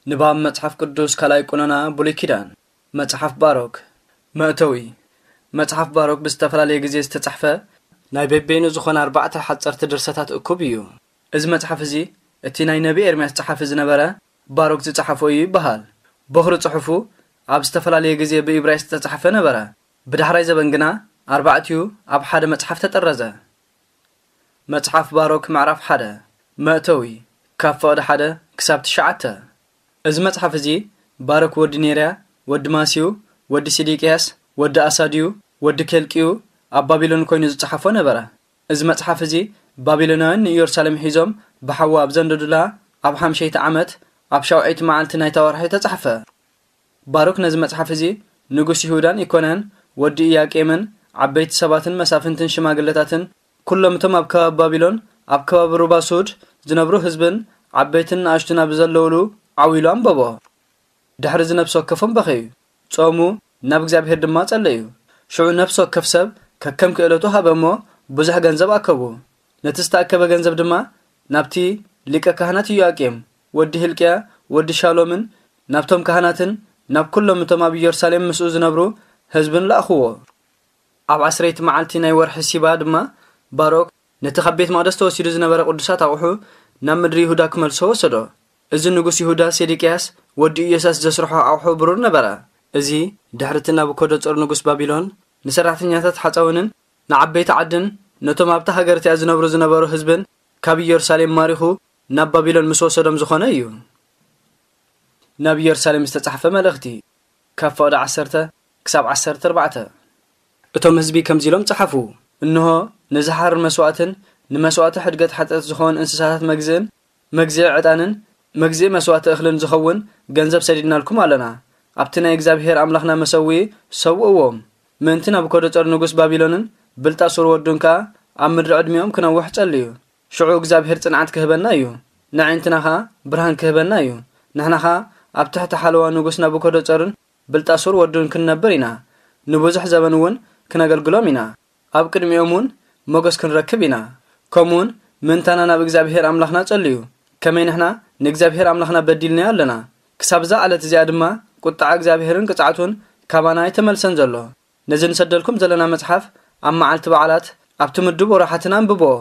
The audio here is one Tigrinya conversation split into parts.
ንባብ መጽሓፍ ቅዱስ ካልኣይ ቁኖና ብሉይ ኪዳን። መጽሓፍ ባሮክ። መእተዊ። መጽሓፍ ባሮክ ብዝተፈላለየ ግዜ ዝተጻሕፈ ናይ በበይኑ ዝኾነ ኣርባዕተ ሓጸርቲ ድርሰታት እኩብ እዩ። እዚ መጽሓፍ እዚ እቲ ናይ ነቢ ኤርምያስ ጸሓፊ ዝነበረ ባሮክ ዝጸሓፎ እዩ ይበሃል። ቦኽሪ ጽሑፉ ኣብ ዝተፈላለየ ግዜ ብኢብራይስጥ ዝተጻሕፈ ነበረ። ብዳሕራይ ዘበን ግና ኣርባዕቲኡ ኣብ ሓደ መጽሓፍ ተጠረዘ። መጽሓፍ ባሮክ ምዕራፍ ሓደ። መእተዊ። ካብ ፍቕዲ ሓደ ክሳብ ትሽዓተ። እዚ መጽሓፍ እዚ ባሮክ ወዲ ኔርያ፣ ወዲ ማስዩ፣ ወዲ ሲዲቅያስ፣ ወዲ ኣሳድዩ፣ ወዲ ኬልቅዩ ኣብ ባቢሎን ኮይኑ ዝጸሓፎ ነበረ። እዚ መጽሓፍ እዚ ባቢሎናውያን ንኢየሩሳሌም ሒዞም ብሓዊ ኣብ ዘንደዱላ ኣብ ሓምሸይቲ ዓመት ኣብ ሻውዐይቲ መዓልቲ ናይታ ወርሒ ተጻሕፈ። ባሮክ ነዚ መጽሓፍ እዚ ንጉስ ይሁዳን ኢኮንያን ወዲ ኢያቄምን ዓበይቲ ሰባትን መሳፍንትን ሽማግለታትን ኩሎም እቶም ኣብ ከባቢ ባቢሎን ኣብ ከባቢ ሩባ ሱድ ዝነብሩ ህዝብን ዓበይትን ንኣሽቱን ኣብ ዘለውሉ ዓው ኢሉ ኣንበቦ። ድሕሪ እዚ ነፍሲ ወከፎም በኸዩ፣ ጾሙ፣ ናብ እግዚኣብሔር ድማ ጸለዩ። ሽዑ ነፍሲ ወከፍ ሰብ ከከም ክእለቱ ሃበ እሞ ብዙሕ ገንዘብ ኣከቡ። ነቲ ዝተኣከበ ገንዘብ ድማ ናብቲ ሊቀ ካህናት ኢዮኣቄም ወዲ ሂልቅያ ወዲ ሻሎምን ናብቶም ካህናትን ናብ ኩሎም እቶም ኣብ ኢየሩሳሌም ምስኡ ዝነብሩ ህዝብን ለኣኽዎ። ኣብ ዓስረይቲ መዓልቲ ናይ ወርሒ ሲባ ድማ ባሮክ ነቲ ካብ ቤት መቕደስ ተወሲዱ ዝነበረ ቅዱሳት ኣቑሑ ናብ ምድሪ ይሁዳ ክመልሶ ወሰዶ። እዚ ንጉስ ይሁዳ ሴዴቅያስ ወዲ ኢዮስያስ ዘስርሖ ኣቑሑ ብሩር ነበረ። እዚ ድሕሪ እቲ ናቡከደጾር ንጉስ ባቢሎን ንሰራሕተኛታት ሓጻውንን ንዓበይቲ ዓድን ነቶም ኣብታ ሃገር እቲኣ ዝነብሩ ዝነበሩ ህዝብን ካብ ኢየሩሳሌም ማሪኹ ናብ ባቢሎን ምስ ወሰዶም ዝኾነ እዩ። ናብ ኢየሩሳሌም ዝተጻሕፈ መልእኽቲ፣ ካብ ፍቕዲ ዓሰርተ ክሳብ ዓሰርተ ኣርባዕተ። እቶም ህዝቢ ከምዚ ኢሎም ጸሓፉ፣ እንሆ፣ ንዝሓርር መስዋእትን ንመስዋእቲ ሕድገት ሓጢኣት ዝኸውን እንስሳታት መግዝእን መግዝኢ ዕጣንን መግዝኢ መስዋእቲ እኽልን ዝኸውን ገንዘብ ሰዲድናልኩም ኣለና። ኣብቲ ናይ እግዚኣብሔር ኣምላኽና መሰውኢ ሰውእዎም። ምእንቲ ናቡከደጾር ንጉስ ባቢሎንን ብልጣሶር ወዱን ከኣ ኣብ ምድሪ ዕድሚኦም ክነውሕ ጸልዩ። ሽዑ እግዚኣብሔር ጽንዓት ክህበና እዩ፣ ንኣዒንትና ኸኣ ብርሃን ክህበና እዩ። ንሕና ኸኣ ኣብ ትሕቲ ሓለዋ ንጉስ ናቡከደጾርን ብልጣሶር ወዱን ክንነብር ኢና። ንብዙሕ ዘበን እውን ክነገልግሎም ኢና። ኣብ ቅድሚኦም እውን ሞገስ ክንረክብ ኢና። ከምኡውን ምእንታና ናብ እግዚኣብሔር ኣምላኽና ጸልዩ። ከመይ ንሕና ንእግዚኣብሔር ኣምላኽና በዲልናዮ ኣለና። ክሳብ እዛ ዕለት እዚኣ ድማ ቁጥዓ እግዚኣብሔርን ቅጽዓቱን ካባና ኣይተመልሰን ዘሎ። ነዚ ንሰደልኩም ዘለና መጽሓፍ ኣብ መዓልቲ በዓላት ኣብቲ ምዱብ ወርሓትን ኣንብብዎ።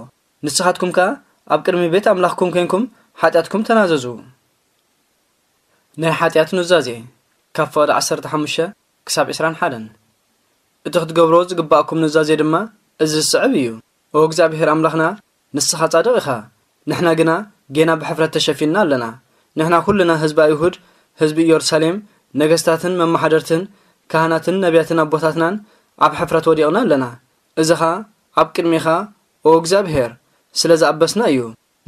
ንስኻትኩም ከኣ ኣብ ቅድሚ ቤት ኣምላኽኩም ኴንኩም ሓጢኣትኩም ተናዘዙ። ናይ ሓጢኣት ኑዛዜ፣ ካብ ፍቕዲ ዓሰርተ ሓሙሽተ ክሳብ ዕስራን ሓደን። እቲ ክትገብሮ ዝግባእኩም ኑዛዜ ድማ እዚ ዝስዕብ እዩ። ኦ እግዚኣብሔር ኣምላኽና፣ ንስኻ ጻድቕ ኢኻ፣ ንሕና ግና ጌና ብሕፍረት ተሸፊንና ኣለና። ንሕና ኩልና ህዝቢ ኣይሁድ፣ ህዝቢ ኢየሩሳሌም፣ ነገስታትን መማሓደርትን፣ ካህናትን ነቢያትን ኣቦታትናን ኣብ ሕፍረት ወዲቕና ኣለና። እዚ ኸኣ ኣብ ቅድሜኻ፣ ኦ እግዚኣብሔር፣ ስለ ዝኣበስና እዩ።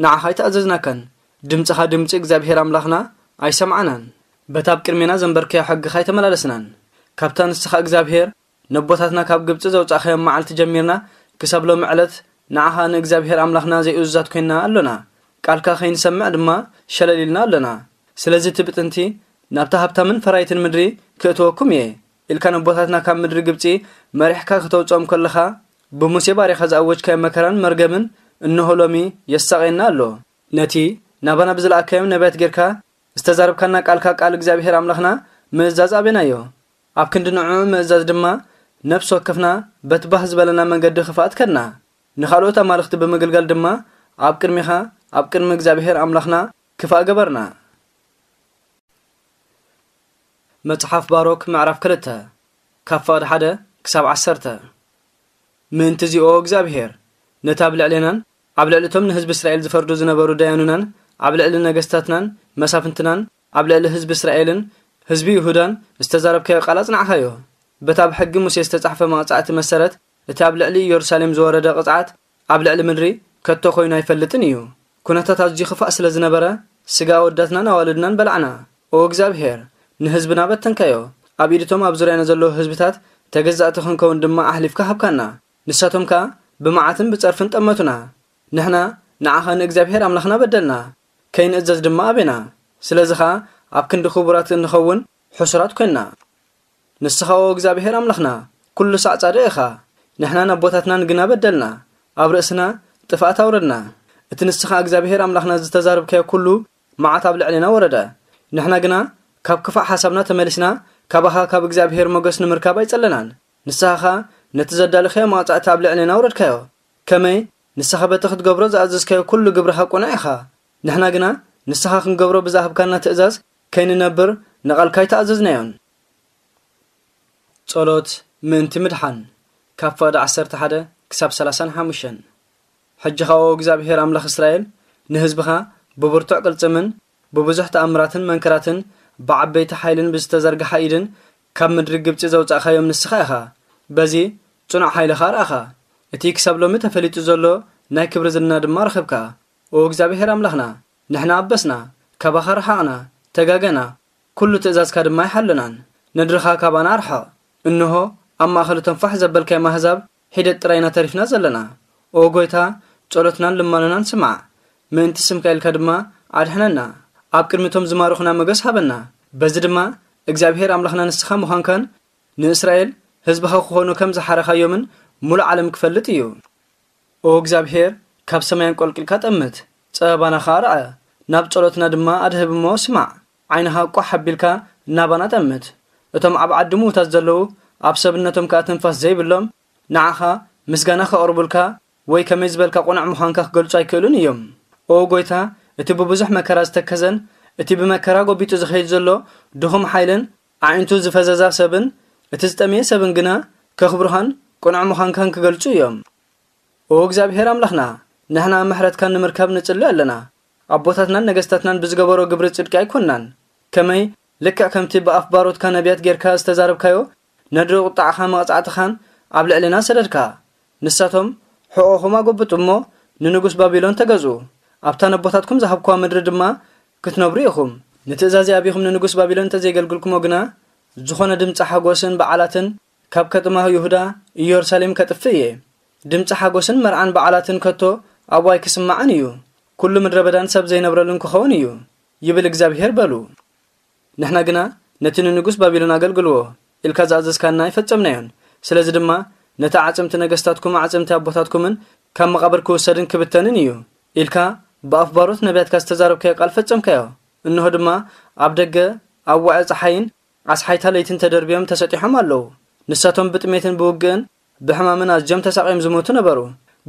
ንዓኻ ኣይተኣዘዝናካን፣ ድምጽኻ ድምጺ እግዚኣብሔር ኣምላኽና ኣይሰምዓናን። በታ ኣብ ቅድሜና ዘንበርካዮ ሕግኻ ኣይተመላለስናን። ካብታ ንስኻ እግዚኣብሔር ነቦታትና ካብ ግብጺ ዘውጻእካዮም መዓልቲ ጀሚርና ክሳብ ሎሚ ዕለት ንዓኻ ንእግዚኣብሔር ኣምላኽና ዘይእዙዛት ኮይንና ኣሎና። ቃልካ ከይንሰምዕ ድማ ሸለል ኢልና ኣሎና። ስለዚ እቲ ብጥንቲ ናብታ ሃብታምን ፈራይትን ምድሪ ክእትወኩም እየ ኢልካ ነቦታትና ካብ ምድሪ ግብጺ መሪሕካ ክተውጽኦም ከለኻ ብሙሴ ባሪኻ ዝኣወጅካዮ መከራን መርገምን እንሆ ሎሚ የሳቕየና ኣሎ። ነቲ ናባና ብዝለኣካዮም ነቢያት ጌርካ ዝተዛረብካና ቃልካ ቃል እግዚኣብሔር ኣምላኽና ምእዛዝ ኣቤናዮ። ኣብ ክንዲ ንዕኡ ምእዛዝ ድማ ነፍሲ ወከፍና በቲ ባህ ዝበለና መንገዲ ክፋኣት ከድና። ንኻልኦት ኣማልኽቲ ብምግልጋል ድማ ኣብ ቅድሚኻ ኣብ ቅድሚ እግዚኣብሔር ኣምላኽና ክፋእ ገበርና። መጽሓፍ ባሮክ ምዕራፍ ክልተ ካብ ፍቕዲ ሓደ ክሳብ ዓሰርተ። ምእንቲ እዚ ኦ እግዚኣብሔር፣ ነቲ ኣብ ልዕሌናን ኣብ ልዕሊ እቶም ንህዝቢ እስራኤል ዝፈርዱ ዝነበሩ ደያኑናን ኣብ ልዕሊ ነገስታትናን መሳፍንትናን ኣብ ልዕሊ ህዝቢ እስራኤልን ህዝቢ ይሁዳን ዝተዛረብካዮ ቃል ኣጽናዕካዮ። በታ ኣብ ሕጊ ሙሴ ዝተጻሕፈ መቕጻዕቲ መሰረት እቲ ኣብ ልዕሊ ኢየሩሳሌም ዝወረደ ቅጽዓት ኣብ ልዕሊ ምድሪ ከቶ ኮይኑ ኣይፈልጥን እዩ። ኩነታት ኣዝዩ ክፋእ ስለ ዝነበረ ስጋ ኣወዳትናን ኣዋልድናን በላዕና። ኦ እግዚኣብሔር፣ ንህዝብና በተንካዮ፣ ኣብ ኢድቶም ኣብ ዙርያና ዘለዉ ህዝብታት ተገዛእቲ ክንከውን ድማ ኣሕሊፍካ ሃብካና። ንሳቶም ከኣ ብመዓትን ብጸርፍን ጠመቱና። ንሕና ንዓኻ ንእግዚኣብሔር ኣምላኽና በደልና፣ ከይንእዘዝ ድማ ኣቤና። ስለዚ ኸኣ ኣብ ክንዲ ክቡራት እንኸውን ሕሱራት ኰንና። ንስኻ ኦ እግዚኣብሔር ኣምላኽና ኩሉ ሳዕ ጻድቕ ኢኻ። ንሕናን ኣቦታትናን ግና በደልና፣ ኣብ ርእስና ጥፍኣት ኣውረድና። እቲ ንስኻ እግዚኣብሔር ኣምላኽና ዝተዛረብካዮ ኩሉ መዓት ኣብ ልዕሌና ወረደ። ንሕና ግና ካብ ክፋእ ሓሳብና ተመሊስና፣ ካባኻ ካብ እግዚኣብሔር ሞገስ ንምርካብ ኣይጸለናን። ንስኻ ኸኣ ነቲ ዘዳለኽዮ መቕጻዕቲ ኣብ ልዕሌና ኣውረድካዮ። ከመይ ንስኻ በቲ ክትገብሮ ዝኣዘዝካዮ ኩሉ ግብርኻ ቅኑዕ ኢኻ። ንሕና ግና ንስኻ ክንገብሮ ብዝሃብካና ትእዛዝ ከይንነብር ንቓልካ ኣይተኣዘዝናዮን። ጸሎት ምእንቲ ምድሓን፣ ካብ ፍቕዲ ዓሰርተ ሓደ ክሳብ ሰላሳን ሓሙሽተን። ሕጂ ኸኣ ኦ እግዚኣብሔር ኣምላኽ እስራኤል፣ ንህዝብኻ ብብርቱዕ ቅልጽምን ብብዙሕ ተኣምራትን መንክራትን ብዓበይቲ ሓይልን ብዝተዘርግሓ ኢድን ካብ ምድሪ ግብጺ ዘውጻእካዮም ንስኻ ኢኻ። በዚ ጽኑዕ ሓይልኻ ኣርኣኻ። እቲ ክሳብ ሎሚ ተፈሊጡ ዘሎ ናይ ክብሪ ዝና ድማ ረኸብካ። ኦ እግዚኣብሔር ኣምላኽና፣ ንሕና ኣበስና፣ ካባኻ ረሓቕና፣ ተጋገና፣ ኩሉ ትእዛዝካ ድማ ኣይሓለናን። ነድርኻ ካባና ኣርሕቕ። እንሆ፣ ኣብ ማእከል እቶም ፋሕ ዘበልካዮም ኣህዛብ ሒደት ጥራይ ኢና ተሪፍና ዘለና። ኦ ጐይታ፣ ጸሎትናን ልማኖናን ስማዕ። ምእንቲ ስምካ ኢልካ ድማ ኣድሕነና። ኣብ ቅድሚ እቶም ዝማርኹና ሞገስ ሃበና። በዚ ድማ እግዚኣብሄር ኣምላኽና ንስኻ ምዃንካን ንእስራኤል ህዝብኻ ክኾኑ ከም ዝሓረኻዮምን ሙሉእ ዓለም ክፈልጥ እዩ። ኦ እግዚኣብሄር፣ ካብ ሰማይ ኣንቆልቂልካ ጠምት፣ ጸበባና ኸኣ ርኣ፣ ናብ ጸሎትና ድማ ኣድህብ እሞ ስማዕ። ዓይንኻ ቋሕ ኣቢልካ ናባና ጠምት። እቶም ኣብ ዓዲ ምዉታት ዘለዉ፣ ኣብ ሰብነቶም ከኣ ትንፋስ ዘይብሎም፣ ንዓኻ ምስጋና ከቕርቡልካ ወይ ከመይ ዝበልካ ቁኑዕ ምዃንካ ክገልጹ ኣይክእሉን እዮም። ኦ ጐይታ፣ እቲ ብብዙሕ መከራ ዝተከዘን እቲ ብመከራ ጐቢጡ ዝኸይድ ዘሎ ድኹም ሓይልን ኣዒንቱ ዝፈዘዛ ሰብን እቲ ዝጠምየ ሰብን ግና ከኽብሩኻን ቅኑዕ ምዃንካን ክገልጹ እዮም። ኦ እግዚኣብሔር ኣምላኽና፣ ንሕና ምሕረትካ ንምርካብ ንጽሊ ኣለና። ኣቦታትናን ነገስታትናን ብዝገበሮ ግብሪ ጽድቂ ኣይኮንናን። ከመይ ልክዕ ከምቲ ብኣፍ ባሮትካ ነቢያት ጌርካ ዝተዛረብካዮ፣ ነድሪ ቁጣዕኻን መቕጻዕትኻን ኣብ ልዕሌና ሰደድካ። ንሳቶም ሕቖኹም ኣጎብጡ እሞ ንንጉስ ባቢሎን ተገዝኡ። ኣብታ ነቦታትኩም ዝሃብኩዋ ምድሪ ድማ ክትነብሩ ኢኹም። ንትእዛዘይ ኣቢኹም ንንጉስ ባቢሎን እንተዘየገልግልኩሞ ግና፣ ዝኾነ ድምጺ ሓጎስን በዓላትን ካብ ከተማ ይሁዳ ኢየሩሳሌም ከጥፍእ እየ። ድምጺ ሓጎስን መርዓን በዓላትን ከቶ ኣብኡ ኣይክስማዕን እዩ። ኩሉ ምድረ በዳን ሰብ ዘይነብረሉን ክኸውን እዩ፣ ይብል እግዚኣብሄር በሉ። ንሕና ግና ነቲ ንንጉስ ባቢሎን ኣገልግልዎ ኢልካ ዝኣዘዝካና ኣይፈጸምናዮን። ስለዚ ድማ ነቲ ኣዕጽምቲ ነገስታትኩም ኣዕጽምቲ ኣቦታትኩምን ካብ መቓብር ክውሰድን ክብተንን እዩ ኢልካ ብኣፍ ባሮት ነቢያትካ ዝተዛረብካዮ ቃል ፈጸምካዮ። እንሆ ድማ ኣብ ደገ ኣብ ዋዒ ጸሓይን ኣስሓይታ ለይትን ተደርብዮም ተሰጢሖም ኣለዉ። ንሳቶም ብጥሜትን ብውግእን ብሕማምን ኣዝዮም ተሳቕዮም ዝሞቱ ነበሩ።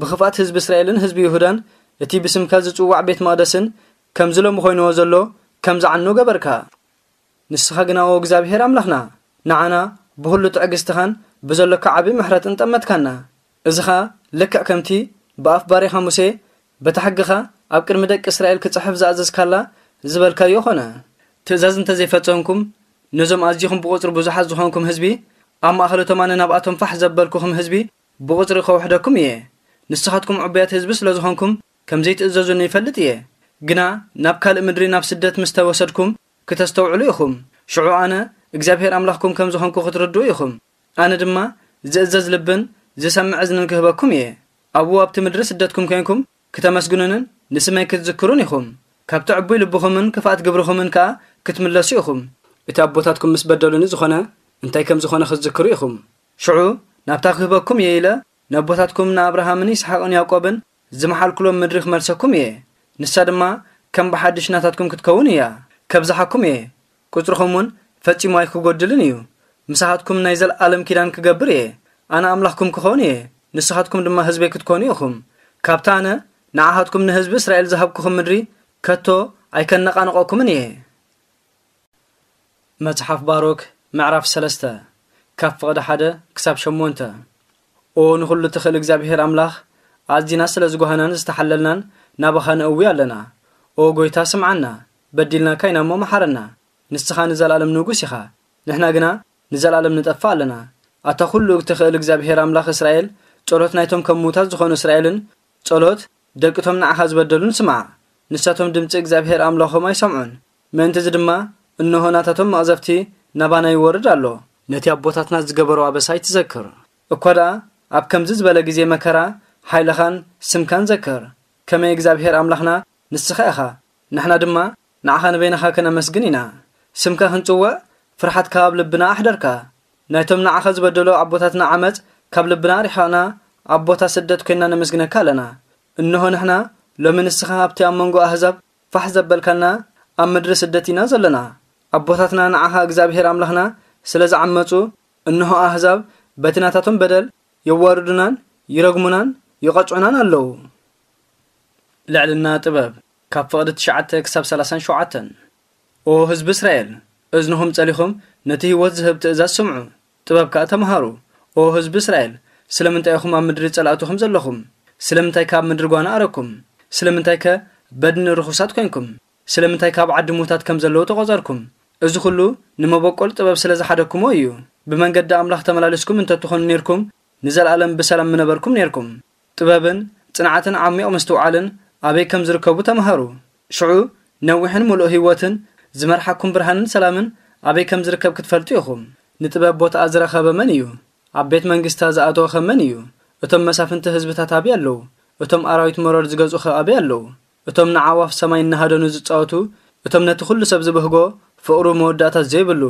ብኽፍኣት ህዝቢ እስራኤልን ህዝቢ ይሁዳን እቲ ብስምካ ዝጽዋዕ ቤት መቕደስን ከምዚ ሎሚ ኮይንዎ ዘሎ ከም ዝዓኑ ገበርካ። ንስኻ ግና ኦ እግዚኣብሄር ኣምላኽና፣ ንዓና ብኹሉ ትዕግስትኻን ብዘሎካ ዓቢ ምሕረትን ጠመትካና። እዚ ኸኣ ልክዕ ከምቲ ብኣፍ ባሪኻ ሙሴ በታ ሕግኻ ኣብ ቅድሚ ደቂ እስራኤል ክጽሕፍ ዝኣዘዝካላ ዝበልካዮ ኾነ። ትእዛዝ እንተ ዘይፈጸምኩም፣ ነዞም ኣዚኹም ብቑጽሪ ብዙሓት ዝኾንኩም ህዝቢ፣ ኣብ ማእከል እቶም ኣነ ናብኣቶም ፋሕ ዘበልኩኹም ህዝቢ ብቑጽሪ ከውሕደኩም እየ። ንስኻትኩም ዕቡያት ህዝቢ ስለ ዝኾንኩም፣ ከም ዘይትእዘዙኒ ይፈልጥ እየ። ግና ናብ ካልእ ምድሪ ናብ ስደት ምስ ተወሰድኩም ክተስተውዕሉ ኢኹም። ሽዑ ኣነ እግዚኣብሄር ኣምላኽኩም ከም ዝኾንኩ ክትርድኡ ኢኹም። ኣነ ድማ ዝእዘዝ ልብን ዝሰምዕ እዝንን ክህበኩም እየ። ኣብኡ ኣብቲ ምድሪ ስደትኩም ኮይንኩም ክተመስግኑንን ንስመይ ክትዝክሩን ኢኹም። ካብቲ ዕቡይ ልብኹምን ክፍኣት ግብርኹምን ከኣ ክትምለሱ ኢኹም። እቲ ኣቦታትኩም ምስ በደሉኒ ዝኾነ እንታይ ከም ዝኾነ ክትዝክሩ ኢኹም። ሽዑ ናብታ ክህበኩም እየ ኢለ ነቦታትኩም ንኣብርሃምን ይስሓቅን ያዕቆብን ዝመሓልኩሎም ምድሪ ክመልሰኩም እየ። ንሳ ድማ ከም ብሓድሽ ናታትኩም ክትከውን እያ። ከብዝሓኩም እየ። ቁጽርኹም እውን ፈጺሙ ኣይክጎድልን እዩ። ምሳኻትኩም ናይ ዘለኣለም ኪዳን ክገብር እየ። ኣነ ኣምላኽኩም ክኸውን እየ፣ ንስኻትኩም ድማ ህዝበይ ክትኮኑ ኢኹም። ካብታ ኣነ ንዓኻትኩም ንህዝቢ እስራኤል ዝሃብኩኹም ምድሪ ከቶ ኣይከነቓንቐኩምን እየ። መጽሓፍ ባሮክ ምዕራፍ ሰለስተ፣ ካብ ፍቕዲ ሓደ ክሳብ ሸሞንተ። ኦ ንኹሉ ትኽእል እግዚኣብሔር ኣምላኽ፣ ኣዚና ስለ ዝጓሃናን ዝተሓለልናን ናባኻ ንእዊ ኣለና። ኦ ጐይታ ስምዓና፣ በዲልናካ ኢና እሞ መሓረና። ንስኻ ንዘለኣለም ንጉስ ኢኻ፣ ንሕና ግና ንዘለኣለም ንጠፍእ ኣለና። ኣታ ኩሉ እትኽእል እግዚኣብሔር ኣምላኽ እስራኤል፣ ጸሎት ናይቶም ከም ምዉታት ዝኾኑ እስራኤልን ጸሎት ደቅቶም ንዓኻ ዝበደሉን ስማዕ። ንሳቶም ድምጺ እግዚኣብሔር ኣምላኾም ኣይሰምዑን። ምእንቲ እዚ ድማ እንሆ ናታቶም መቕዘፍቲ ናባና ይወርድ ኣሎ። ነቲ ኣቦታትና ዝገበሮ ኣበሳ ኣይትዘክር። እኳ ደኣ ኣብ ከምዚ ዝበለ ግዜ መከራ ሓይልኻን ስምካን ዘክር። ከመይ እግዚኣብሔር ኣምላኽና ንስኻ ኢኻ። ንሕና ድማ ንዓኻ ንበይንኻ ከነመስግን ኢና። ስምካ ክንጽውዕ ፍርሓትካ ኣብ ልብና ኣሕደርካ። ናይቶም ንዓኻ ዝበደሉ ኣቦታትና ዓመጽ ካብ ልብና ኣርሒቕና ኣብ ቦታ ስደት ኮይንና ነመስግነካ ኣለና። እንሆ ንሕና ሎሚ ንስኻ ኣብቲ ኣብ መንጎ ኣህዛብ ፋሕ ዘበልካና ኣብ ምድሪ ስደት ኢና ዘለና። ኣቦታትና ንዓኻ እግዚኣብሔር ኣምላኽና ስለ ዝዓመጹ፣ እንሆ ኣህዛብ በቲ ናታቶም በደል የዋርዱናን ይረግሙናን ይቐጽዑናን ኣለዉ። ልዕልና ጥበብ፣ ካብ ፍቕዲ ትሽዓተ ክሳብ ሰላሳን ሸውዓተን። ኦ ህዝቢ እስራኤል፣ እዝንኹም ጸሊኹም ነቲ ህይወት ዝህብ ትእዛዝ ስምዑ፣ ጥበብ ከኣ ተምሃሩ። ኦ ህዝቢ እስራኤል፣ ስለምንታይ ኢኹም ኣብ ምድሪ ጸላእትኹም ዘለኹም? ስለምንታይ ከ ኣብ ምድሪ ጓና ኣረኩም? ስለምንታይ ከ በድኒ ርኹሳት ኮንኩም? ስለምንታይ ካብ ዓዲ ምዉታት ከም ዘለዉ ተቖጸርኩም? እዚ ኹሉ ንመበቆል ጥበብ ስለ ዝሓደኩሞ እዩ። ብመንገዲ ኣምላኽ ተመላሊስኩም እንተትኾኑ ኔርኩም፣ ንዘለኣለም ብሰላም ምነበርኩም ኔርኩም። ጥበብን ጽንዓትን ዓሚቕ ምስትውዓልን ኣበይ ከም ዝርከቡ ተምሃሩ። ሽዑ ነዊሕን ምሉእ ህይወትን ዝመርሓኩም ብርሃንን ሰላምን ኣበይ ከም ዝርከብ ክትፈልጡ ኢኹም። ንጥበብ ቦታኣ ዝረኸበ መን እዩ? ኣብ ቤት መንግስታ ዝኣተወኸ መን እዩ? እቶም መሳፍንቲ ህዝብታት ኣበይ ኣለዉ? እቶም ኣራዊት መሮር ዝገዝኡኸ ኣበይ ኣለዉ? እቶም ንዓዋፍ ሰማይ እናሃደኑ ዝጻወቱ፣ እቶም ነቲ ኩሉ ሰብ ዝብህጎ፣ ፍቕሩ መወዳእታ ዘይብሉ፣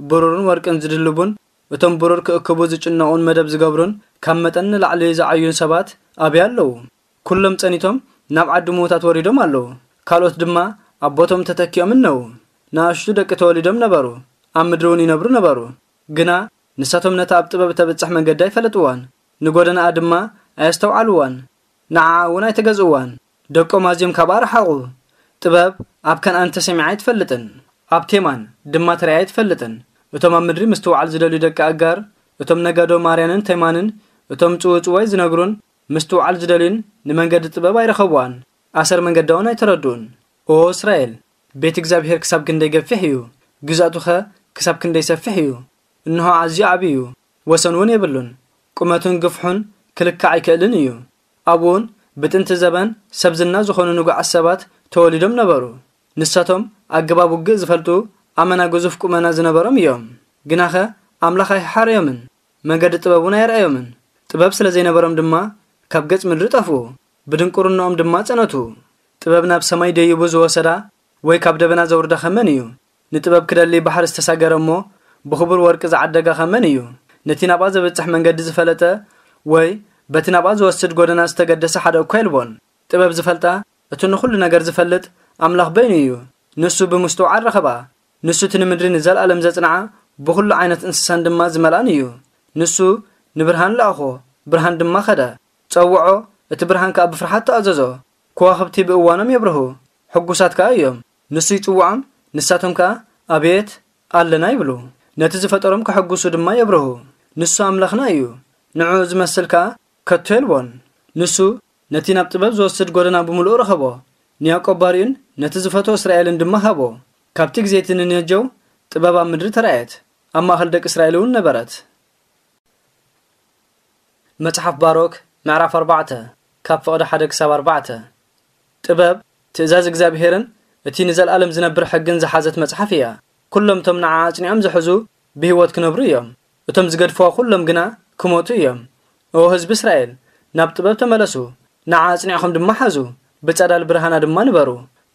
ብሩርን ወርቅን ዝድልቡን፣ እቶም ብሩር ክእክቡ ዝጭነቑን መደብ ዝገብሩን፣ ካብ መጠን ንላዕሊ ዝዓዩን ሰባት ኣበይ ኣለዉ? ኩሎም ጸኒቶም ናብ ዓዲ ምዉታት ወሪዶም ኣለዉ። ካልኦት ድማ ኣብ ቦቶም ተተኪኦም እነዉ። ንኣሽቱ ደቂ ተወሊዶም ነበሩ፣ ኣብ ምድሪ እውን ይነብሩ ነበሩ። ግና ንሳቶም ነታ ኣብ ጥበብ እተብጽሕ መንገዲ ኣይፈለጥዋን፣ ንጎደናኣ ድማ ኣየስተውዓልዋን። ንዓኣ እውን ኣይተገዝእዋን። ደቆም ኣዝዮም ካብኣ ረሓቑ። ጥበብ ኣብ ከነኣን ተሰሚዓ ኣይትፈልጥን፣ ኣብ ቴማን ድማ ተራእያ ኣይትፈልጥን። እቶም ኣብ ምድሪ ምስትውዓል ዝደልዩ ደቂ ኣጋር፣ እቶም ነጋዶ ማርያንን ቴማንን፣ እቶም ጽውጽዋይ ዝነግሩን ምስትውዓል ዝደልዩን ንመንገዲ ጥበብ ኣይረኸብዋን፣ ኣሰር መንገዳውን ኣይተረድኡን። ኦ እስራኤል፣ ቤት እግዚኣብሔር ክሳብ ክንደይ ገፊሕ እዩ፣ ግዝኣቱኸ ክሳብ ክንደይ ሰፊሕ እዩ! እንሆ ኣዝዩ ዓቢ እዩ፣ ወሰን እውን የብሉን። ቁመቱን ግፍሑን ክልካዕ ኣይክእልን እዩ። ኣብኡውን ብጥንቲ ዘበን ሰብ ዝና ዝኾኑ ንጉዓት ሰባት ተወሊዶም ነበሩ። ንሳቶም ኣገባብ ውግእ ዝፈልጡ፣ ኣመና ግዙፍ ቁመና ዝነበሮም እዮም። ግናኸ ኣምላኽ ኣይሓረዮምን፣ መንገዲ ጥበብ እውን ኣየርኣዮምን። ጥበብ ስለ ዘይነበሮም ድማ ካብ ገጽ ምድሪ ጠፍኡ፣ ብድንቁርናኦም ድማ ጸነቱ። ጥበብ ናብ ሰማይ ደይቡ ዝወሰዳ ወይ ካብ ደበና ዘውርዳ ከመን እዩ? ንጥበብ ክደሊ ባሕሪ ዝተሳገረ እሞ ብኽቡር ወርቂ ዝዓደጋ ከመን እዩ? ነቲ ናብኣ ዘብጽሕ መንገዲ ዝፈለጠ ወይ በቲ ናብኣ ዝወስድ ጎደና ዝተገደሰ ሓደ እኳ የልቦን። ጥበብ ዝፈልጣ፣ እቲ ንኹሉ ነገር ዝፈልጥ ኣምላኽ በይኑ እዩ። ንሱ ብምስትውዓል ረኸባ። ንሱ እቲ ንምድሪ ንዘለኣለም ዘጽንዓ፣ ብኹሉ ዓይነት እንስሳን ድማ ዝመልኣን እዩ። ንሱ ንብርሃን ለኣኾ፣ ብርሃን ድማ ኸደ። ጸውዖ፣ እቲ ብርሃን ከኣ ብፍርሃት ተኣዘዞ። ከዋኽብቲ ብእዋኖም የብርሁ፣ ሕጉሳት ከኣ እዮም። ንሱ ይጽውዖም፣ ንሳቶም ከኣ፣ "ኣቤት፣ ኣለና" ይብሉ። ነቲ ዝፈጠሮም ከሐጉሱ ድማ የብርሁ። ንሱ ኣምላኽና እዩ። ንዕኡ ዝመስል ከኣ ከቶ የልቦን። ንሱ ነቲ ናብ ጥበብ ዝወስድ ጎደና ብምሉኡ ረኸቦ። ንያዕቆብ ባሪኡን ነቲ ዝፈትዎ እስራኤልን ድማ ሃቦ። ካብቲ ግዜ እቲ ንነጀው ጥበብ ኣብ ምድሪ ተራእየት፣ ኣብ ማእከል ደቂ እስራኤል እውን ነበረት። መጽሓፍ ባሮክ ምዕራፍ ኣርባዕተ፣ ካብ ፍቕዲ ሓደ ክሳብ ኣርባዕተ። ጥበብ፣ ትእዛዝ እግዚኣብሄርን እቲ ንዘለኣለም ዝነብር ሕግን ዝሓዘት መጽሓፍ እያ። ኩሎም እቶም ንዓ ኣጽኒዖም ዝሕዙ ብህይወት ክነብሩ እዮም። እቶም ዝገድፍዋ ኩሎም ግና ክሞቱ እዮም። ኦ ህዝቢ እስራኤል፣ ናብ ጥበብ ተመለሱ፣ ንዓ ኣጽኒዕኹም ድማ ሓዙ፣ ብጸዳል ብርሃና ድማ ንበሩ።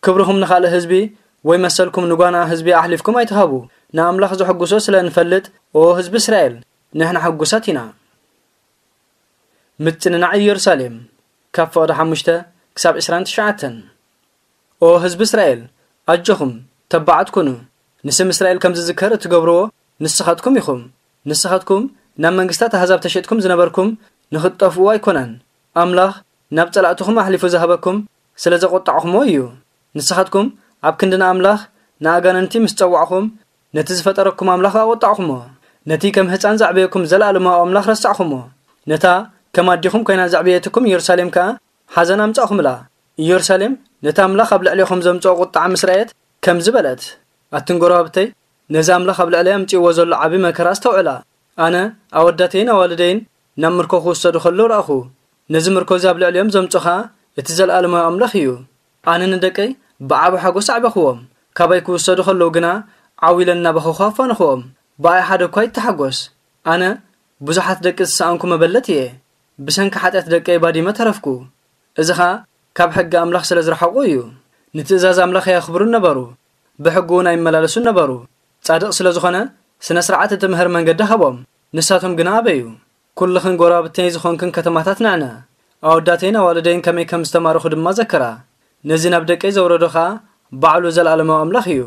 ክብርኹም ንኻልእ ህዝቢ ወይ መሰልኩም ንጓና ህዝቢ ኣሕሊፍኩም ኣይትሃቡ። ንኣምላኽ ዘሐጉሶ ስለ እንፈልጥ፣ ኦ ህዝቢ እስራኤል፣ ንሕና ሕጉሳት ኢና። ምጽንናዕ ኢየሩሳሌም፣ ካብ ፍቕዲ ሓሙሽተ ክሳብ ዕስራን ትሽዓተን። ኦ ህዝቢ እስራኤል፣ ኣጆኹም፣ ተባዓት ኩኑ። ንስም እስራኤል ከም ዝዝከር እትገብርዎ ንስኻትኩም ኢኹም። ንስኻትኩም ናብ መንግስታት ኣህዛብ ተሸጥኩም ዝነበርኩም ንኽትጠፍኡ ኣይኮነን። ኣምላኽ ናብ ጸላእትኹም ኣሕሊፉ ዝሃበኩም ስለ ዘቖጣዕኹሞ እዩ። ንስኻትኩም ኣብ ክንዲ ንኣምላኽ ንኣጋንንቲ ምስ ጸዋዕኹም፣ ነቲ ዝፈጠረኩም ኣምላኽ ኣቖጣዕኹሞ። ነቲ ከም ህጻን ዘዕበየኩም ዘለኣለማዊ ኣምላኽ ረሳዕኹሞ። ነታ ከም ኣዴኹም ኮይና ዘዕበየትኩም ኢየሩሳሌም ከኣ ሓዘን ኣምጻእኹምላ። ኢየሩሳሌም ነቲ ኣምላኽ ኣብ ልዕሌኹም ዘምጽኦ ቁጥዓ ምስ ረኣየት ከምዚ በለት፣ ኣትን ጎረባብተይ፣ ነዚ ኣምላኽ ኣብ ልዕለይ ኣምጺእዎ ዘሎ ዓቢ መከራ ኣስተውዕላ። ኣነ ኣወዳተይን ኣዋልደይን ናብ ምርኮ ክውሰዱ ከለዉ ረኣኹ። ነዚ ምርኮ እዚ ኣብ ልዕሊኦም ዘምጾ ኸኣ እቲ ዘለኣለማዊ ኣምላኽ እዩ። ኣነ ንደቀይ ብዓቢ ሓጎስ ኣዕበኽዎም። ካባይ ክውሰዱ ከለዉ ግና ዓው ኢለ እናበኸኹ ኣፋንኽዎም። ብኣይ ሓደ እኳ ኣይተሓጎስ። ኣነ ብዙሓት ደቂ ዝሰኣንኩ መበለት እየ። ብሰንኪ ሓጢኣት ደቀይ ባዲመ ተረፍኩ። እዚ ኸኣ ካብ ሕጊ ኣምላኽ ስለ ዝረሓቑ እዩ። ንትእዛዝ ኣምላኽ ኣየኽብሩን ነበሩ፣ ብሕጉ እውን ኣይመላለሱን ነበሩ። ጻድቕ ስለ ዝኾነ፣ ስነ ስርዓት እትምህር መንገዲ ሃቦም፣ ንሳቶም ግና ኣበዩ። ኩልኽን ጐረባብተይ ዝኾንክን ከተማታት ንዕነ፣ ኣወዳተይን ኣዋልደይን ከመይ ከም ዝተማረኹ ድማ ዘክራ። ነዚ ናብ ደቀይ ዘውረዶ ኸኣ ባዕሉ ዘለኣለማዊ ኣምላኽ እዩ።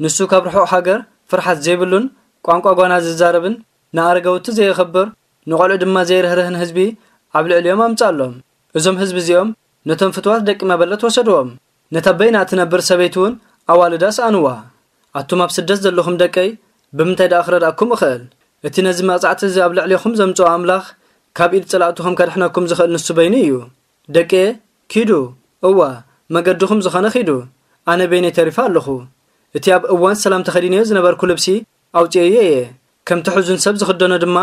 ንሱ ካብ ርሑቕ ሃገር ፍርሓት ዘይብሉን ቋንቋ ጓና ዝዛረብን ንኣረጋውቲ ዘየኸብር ንቖልዑ ድማ ዘይርህርህን ህዝቢ ኣብ ልዕሊኦም ኣምጻሎም። እዞም ህዝቢ እዚኦም ነቶም ፍትዋት ደቂ መበለት ወሰድዎም። ነታ በይና እትነብር ሰበይቲ እውን ኣዋልዳ ሰኣንዋ። ኣቱም ኣብ ስደት ዘለኹም ደቀይ፣ ብምንታይ ደኣ ክረድኣኩም እኽእል? እቲ ነዚ መቕጻዕቲ እዚ ኣብ ልዕሌኹም ዘምጽኦ ኣምላኽ ካብ ኢድ ጸላእትኹም ከድሕነኩም ዝኽእል ንሱ በይኑ እዩ። ደቂ፣ ኪዱ፣ እወ፣ መገድኹም ዝኾነ ኺዱ፣ ኣነ በይነይ ተሪፈ ኣለኹ። እቲ ኣብ እዋን ሰላም ተኸዲነዮ ዝነበርኩ ልብሲ ኣውጽኤዮ እየ፣ ከምቲ ሕዙን ሰብ ዝኽደኖ ድማ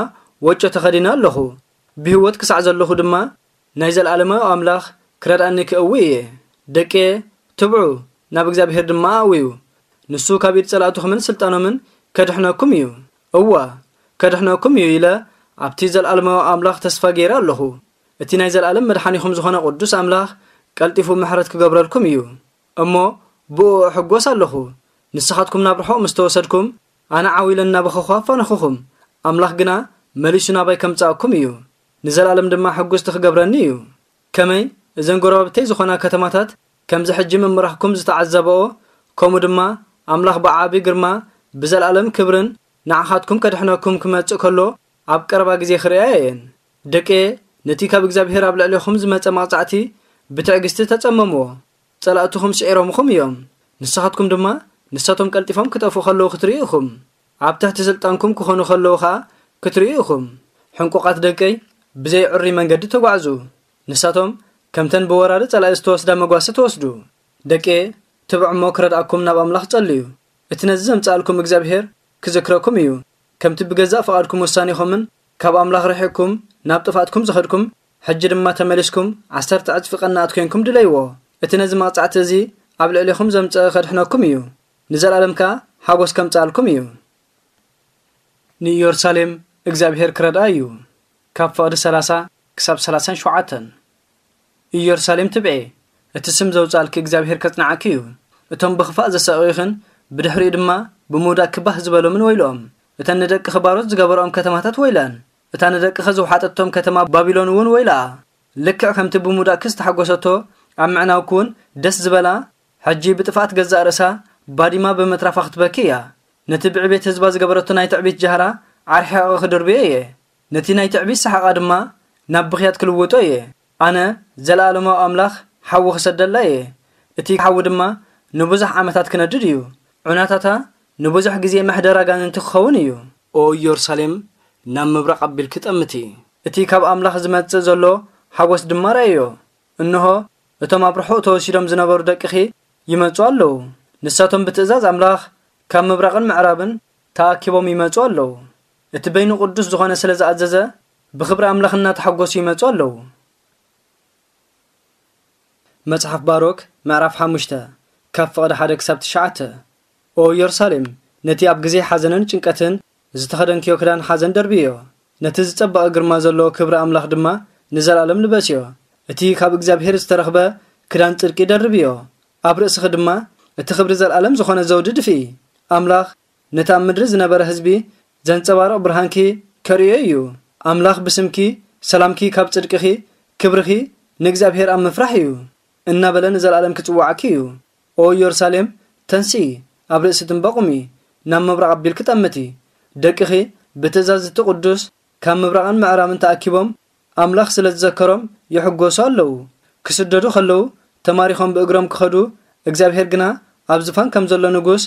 ወጮ ተኸዲነ ኣለኹ። ብህይወት ክሳዕ ዘለኹ ድማ ናይ ዘለኣለማዊ ኣምላኽ ክረድኣኒ ክእዊ እየ። ደቂ፣ ትብዑ፣ ናብ እግዚኣብሔር ድማ ኣእውዩ። ንሱ ካብ ኢድ ጸላእትኹምን ስልጣኖምን ከድሕነኩም እዩ። እወ፣ ከድሕነኩም እዩ ኢለ ኣብቲ ዘለኣለማዊ ኣምላኽ ተስፋ ገይረ ኣለኹ። እቲ ናይ ዘለኣለም መድሓኒኹም ዝኾነ ቅዱስ ኣምላኽ ቀልጢፉ ምሕረት ክገብረልኩም እዩ። እሞ ብእኡ እሕጎስ ኣለኹ። ንስኻትኩም ናብ ርሑቕ ምስ ተወሰድኩም፣ ኣነ ዓው ኢለ እናበኸኹ ኣፋነኹኹም። ኣምላኽ ግና መሊሱ ናባይ ከምጽኣኩም እዩ። ንዘለኣለም ድማ ሕጉስቲ ክገብረኒ እዩ። ከመይ እዘን ጎረባብተይ ዝኾና ከተማታት ከምዚ ሕጂ ምምራኽኩም ዝተዓዘበኦ፣ ከምኡ ድማ ኣምላኽ ብዓቢ ግርማ ብዘለኣለም ክብርን ንዓኻትኩም ከድሕነኩም ክመጽእ ከሎ ኣብ ቀረባ ግዜ ክርእያ እየን። ደቂ፣ ነቲ ካብ እግዚኣብሔር ኣብ ልዕሌኹም ዝመጸ መቕጻዕቲ ብትዕግስቲ ተጸመምዎ። ጸላእትኹም ስዒሮምኹም እዮም። ንስኻትኩም ድማ ንሳቶም ቀልጢፎም ክጠፍኡ ከለዉ ክትርእዩ ኢኹም። ኣብ ትሕቲ ስልጣንኩም ክኾኑ ከለዉ ኸኣ ክትርእዩ ኢኹም። ሕንቁቓት ደቀይ፣ ብዘይ ዕሩይ መንገዲ ተጓዕዙ። ንሳቶም ከምተን ብወራሪ ጸላኢ ዝተወስዳ መጓሰ ተወስዱ። ደቂ፣ ትብዑ እሞ ክረድኣኩም ናብ ኣምላኽ ጸልዩ። እቲ ነዚ ዘምጽኣልኩም እግዚኣብሔር ክዝክረኩም እዩ። ከምቲ ብገዛእ ፍቓድኩም ውሳኔኹምን ካብ ኣምላኽ ርሒቕኩም ናብ ጥፍኣትኩም ዝኸድኩም፣ ሕጂ ድማ ተመሊስኩም ዓሰርተ ዕጽፊ ቀናኣት ኮይንኩም ድለይዎ። እቲ ነዚ መቕጻዕቲ እዚ ኣብ ልዕሌኹም ዘምጽአ ከድሕነኩም እዩ። ንዘለኣለም ከኣ ሓጎስ ከምጽኣልኩም እዩ። ንኢየሩሳሌም እግዚኣብሔር ክረድኣ እዩ። ካብ ፍቕዲ ሰላሳ ክሳብ ሰላሳን ሸውዓተን። ኢየሩሳሌም ትብዒ፣ እቲ ስም ዘውጻልኪ እግዚኣብሔር ከጽንዓኪ እዩ። እቶም ብኽፋእ ዘሳቐዩኽን ብድሕሪኡ ድማ ብምውዳቕኪ ባህ ዝበሎምን ወይልኦም። እተን ንደቅኺ ባሮት ዝገበርኦም ከተማታት ወይለን። እታ ንደቅኺ ዝወሓጠቶም ከተማ ባቢሎን እውን ወይልኣ። ልክዕ ከምቲ ብምውዳቕኪ ዝተሓጎሰቶ ኣብ ምዕናውኪ እውን ደስ ዝበላ፣ ሕጂ ብጥፍኣት ገዛእ ርእሳ ባዲማ ብምትራፋ ክትበኪ እያ። ነቲ ብዕቤት ህዝባ ዝገበረቶ ናይ ትዕቢት ጃህራ ዓርሒቐ ክድርብዮ እየ። ነቲ ናይ ትዕቢት ሰሓቓ ድማ ናብ ብኽያት ክልውጦ እየ። ኣነ ዘለኣለማዊ ኣምላኽ ሓዊ ክሰደላ እየ። እቲ ሓዊ ድማ ንብዙሕ ዓመታት ክነድድ እዩ። ዑናታታ ንብዙሕ ግዜ መሕደር ኣጋንንቲ ክኸውን እዩ። ኦ ኢየሩሳሌም፣ ናብ ምብራቕ ኣቢልኪ ጠምቲ። እቲ ካብ ኣምላኽ ዝመጽእ ዘሎ ሓጎስ ድማ ርኣዮ። እንሆ፣ እቶም ኣብ ርሑቕ ተወሲዶም ዝነበሩ ደቅኺ ይመጹ ኣለዉ። ንሳቶም ብትእዛዝ ኣምላኽ ካብ ምብራቕን ምዕራብን ተኣኪቦም ይመጹ ኣለዉ። እቲ በይኑ ቅዱስ ዝኾነ ስለ ዝኣዘዘ፣ ብኽብሪ ኣምላኽ እናተሓጎሱ ይመጹ ኣለዉ። መጽሓፍ ባሮክ ምዕራፍ ሓሙሽተ፣ ካብ ፍቕዲ ሓደ ክሳብ ትሽዓተ። ኦ ኢየሩሳሌም፣ ነቲ ኣብ ግዜ ሓዘንን ጭንቀትን ዝተኸደንክዮ ክዳን ሓዘን ደርብዮ። ነቲ ዝጸበቐ ግርማ ዘለዎ ክብሪ ኣምላኽ ድማ ንዘለኣለም ልበስዮ። እቲ ካብ እግዚኣብሔር ዝተረኽበ ክዳን ጽድቂ ደርብዮ። ኣብ ርእስኺ ድማ እቲ ክብሪ ዘለኣለም ዝኾነ ዘውዲ ድፍኢ። ኣምላኽ ነቲ ኣብ ምድሪ ዝነበረ ህዝቢ ዘንጸባርቕ ብርሃንኪ ከርእዮ እዩ። ኣምላኽ ብስምኪ ሰላምኪ ካብ ጽድቅኺ፣ ክብርኺ ንእግዚኣብሔር ኣብ ምፍራሕ እዩ እናበለ ንዘለኣለም ክጽውዓኪ እዩ። ኦ ኢየሩሳሌም፣ ተንስኢ፣ ኣብ ርእሲ ትንበ ቁሚ፣ ናብ ምብራቕ ኣቢልኪ ጠምቲ። ደቅኺ ብትእዛዝ እቲ ቅዱስ ካብ ምብራቕን ምዕራብን ተኣኪቦም ኣምላኽ ስለ ዝዘከሮም ይሕጎሱ ኣለዉ። ክስደዱ ከለዉ ተማሪኾም ብእግሮም ክኸዱ፣ እግዚኣብሔር ግና ኣብ ዝፋን ከም ዘሎ ንጉስ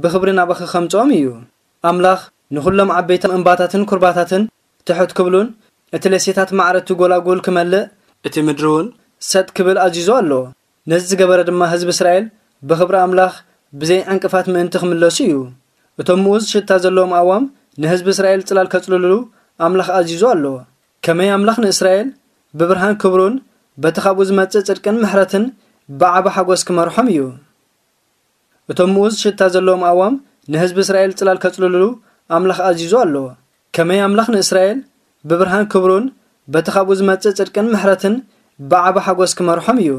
ብኽብሪ ናባኺ ከምጽኦም እዩ። ኣምላኽ ንኹሎም ዓበይቲ እምባታትን ኩርባታትን ትሕት ክብሉን እቲ ለሴታት ማዕረ እቲ ጎላጉል ክመልእ፣ እቲ ምድሪ እውን ሰጥ ክብል ኣዚዙ ኣሎ። ነዚ ዝገበረ ድማ ህዝቢ እስራኤል ብኽብሪ ኣምላኽ ብዘይ ዕንቅፋት ምእንቲ ክምለሱ እዩ። እቶም ምኡዝ ሽታ ዘለዎም ኣእዋም ንህዝቢ እስራኤል ጽላል ከጽልልሉ ኣምላኽ ኣዚዙ ኣሎ። ከመይ ኣምላኽ ንእስራኤል ብብርሃን ክብሩን በቲ ካብኡ ዝመጽእ ጽድቅን ምሕረትን ብዓቢ ሓጎስ ክመርሖም እዩ። እቶም ምኡዝ ሽታ ዘለዎም ኣእዋም ንህዝቢ እስራኤል ጽላል ከጽልልሉ ኣምላኽ ኣዚዙ ኣሎ። ከመይ ኣምላኽ ንእስራኤል ብብርሃን ክብሩን በቲ ካብኡ ዝመጽእ ጽድቅን ምሕረትን ብዓቢ ሓጎስ ክመርሖም እዩ።